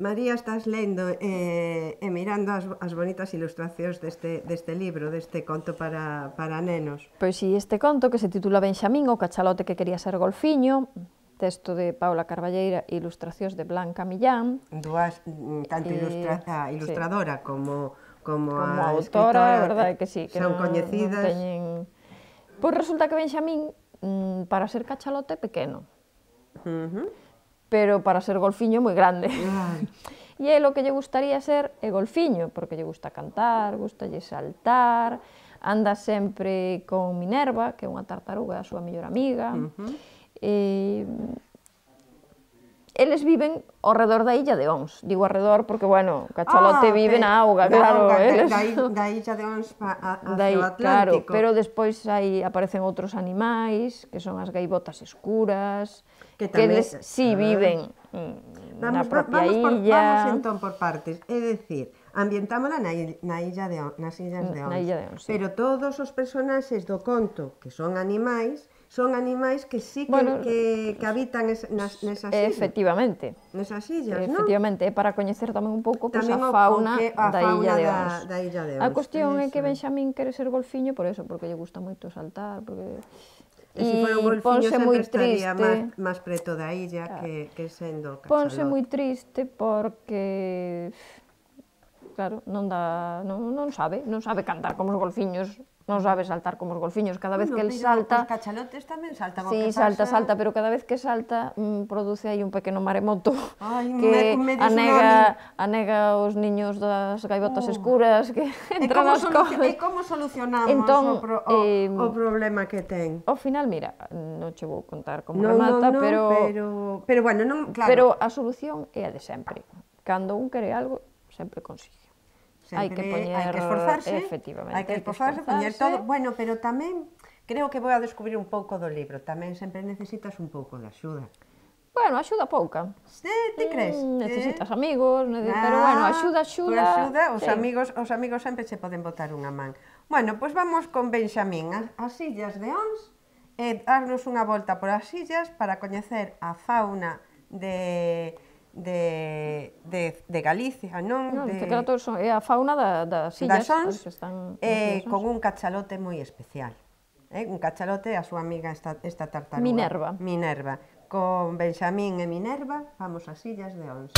María, estás lendo e mirando as bonitas ilustracións deste libro, deste conto para nenos. Pois si, este conto que se titula Benxamín, o cachalote que quería ser golfiño, texto de Paula Carballeira, ilustracións de Blanca Millán. Tanto a ilustradora como a autora, escritora, verdade que sí, que son coñecidas. Pois resulta que Benxamín, para ser cachalote, é pequeno. Pero para ser golfiño moi grande. E é o que lle gustaría ser é golfiño, porque lle gusta cantar, gustalle saltar, anda sempre con Minerva, que é unha tartaruga, a súa mellor amiga. Eles viven ao redor da illa de Ons. Digo ao redor porque, bueno, o cachalote vive na auga, claro. Da illa de Ons hacia o Atlántico. Claro, pero despois aparecen outros animais, que son as gaivotas escuras, que eles sí viven na propia illa. Vamos entón por partes, é dicir, ambientámola nas illas de Ons, pero todos os personaxes do conto, que son animais que sí que habitan nesas illas. Efectivamente. Nesas illas, non? Efectivamente, é para coñecer tamén un pouco a fauna da illa de Ons. A cuestión é que Benxamín quere ser golfiño por eso, porque lle gusta moito saltar, porque... E se fora un golfiño sempre estaría máis preto da illa que sendo cachalote. Ponse moi triste porque... Claro, non sabe cantar como os golfiños, non sabe saltar como os golfiños. Cada vez que el salta... Os cachalotes tamén saltan. Sí, salta, pero cada vez que salta produce aí un pequeno maremoto que anega os niños das gaivotas escuras que entran nas covas. E como solucionamos o problema que ten? Ao final, mira, non che vou contar como remata, pero... Pero, bueno, non, claro. Pero a solución é a de sempre. Cando un quere algo, sempre consigue. Hai que esforzarse, efectivamente, hai que esforzarse, poñer todo. Bueno, pero tamén creo que vou a descubrir un pouco do libro. Tamén sempre necesitas un pouco de axuda. Bueno, axuda pouca. Ti crees? Necesitas amigos, pero bueno, axuda. Os amigos sempre che poden botar unha man. Bueno, pois vamos con Benxamín, as illas de Ons, e darnos unha volta por as illas para coñecer a fauna de Galicia, non? É a fauna das illas que están con un cachalote moi especial. Un cachalote, a súa amiga esta tartaruga Minerva. Con Benxamín e Minerva vamos ás illas de Ons.